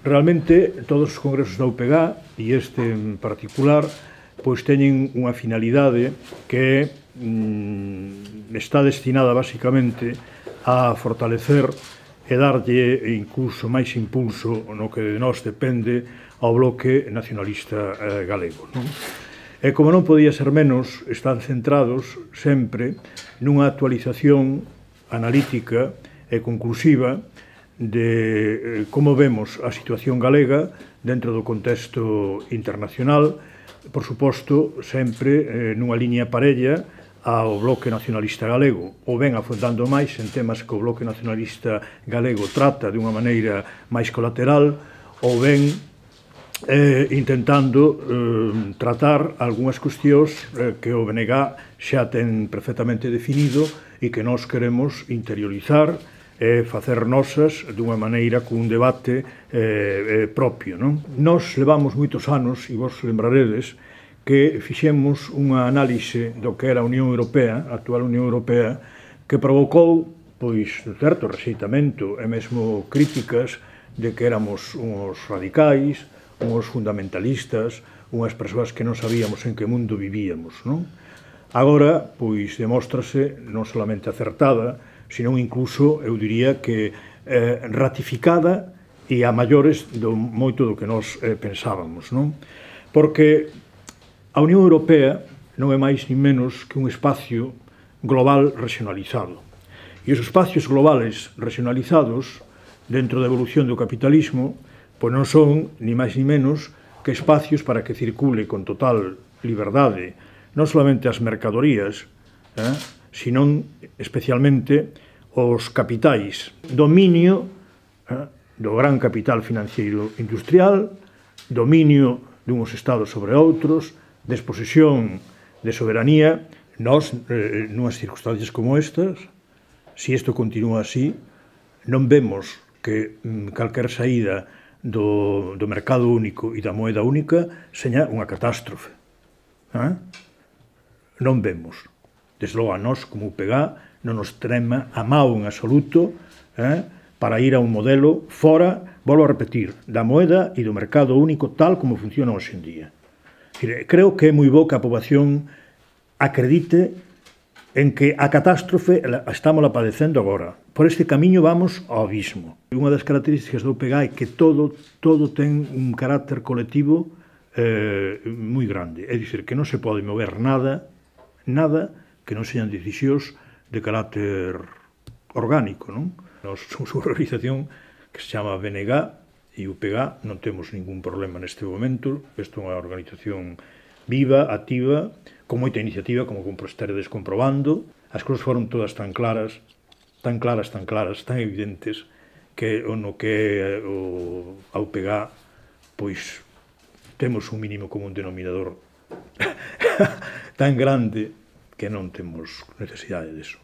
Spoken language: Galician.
Realmente, todos os congresos da UPG, e este en particular, pois teñen unha finalidade que está destinada basicamente a fortalecer e darlle incluso máis impulso no que de nós depende ao bloque nacionalista galego. E como non podía ser menos, están centrados sempre nunha actualización analítica e conclusiva de como vemos a situación galega dentro do contexto internacional, por suposto, sempre nunha liña parella ao bloque nacionalista galego, ou ben afondando máis en temas que o bloque nacionalista galego trata dunha maneira máis colateral, ou ben intentando tratar algunhas cuestións que o BNG xa ten perfectamente definido e que nós queremos interiorizar e facer nosas dunha maneira con un debate propio. Nós levamos moitos anos, e vos lembraredes, que fixemos unha análise do que era a Unión Europea, a actual Unión Europea, que provocou, pois, certo rexeitamento e mesmo críticas de que éramos uns radicais, uns fundamentalistas, unhas persoas que non sabíamos en que mundo vivíamos. Agora, pois, demóstrase non solamente acertada, senón incluso, eu diría que ratificada e a maiores moito do que nós pensábamos. Porque a Unión Europea non é máis ni menos que un espacio global regionalizado. E os espacios globales regionalizados, dentro da evolución do capitalismo, pois non son ni máis ni menos que espacios para que circule con total liberdade non solamente as mercadorías, senón especialmente os capitais. Dominio do gran capital financiero industrial, dominio dunhos estados sobre outros, desposesión de soberanía. Nós, nunhas circunstancias como estas, se isto continúa así, non vemos que calquer saída do mercado único e da moeda única seña unha catástrofe. Non vemos. Desde logo a nós, como UPG, non nos trema a mao en absoluto para ir a un modelo fora, volvo a repetir, da moeda e do mercado único tal como funciona hoxe en día. Creo que é moi bo que a poboación acredite en que a catástrofe estamos padecendo agora. Por este camiño vamos ao abismo. Unha das características do UPG é que todo ten un carácter colectivo moi grande. É dicir, que non se pode mover nada que non sean decisións de carácter orgánico. Nós somos unha organización que se chama BNG e UPG, non temos ningún problema neste momento. Isto é unha organización viva, activa, con moita iniciativa, como estaredes comprobando. As cousas foron todas tan claras, tan evidentes, que no que é a UPG, pois temos un mínimo común denominador tan grande que non temos necesidade disso.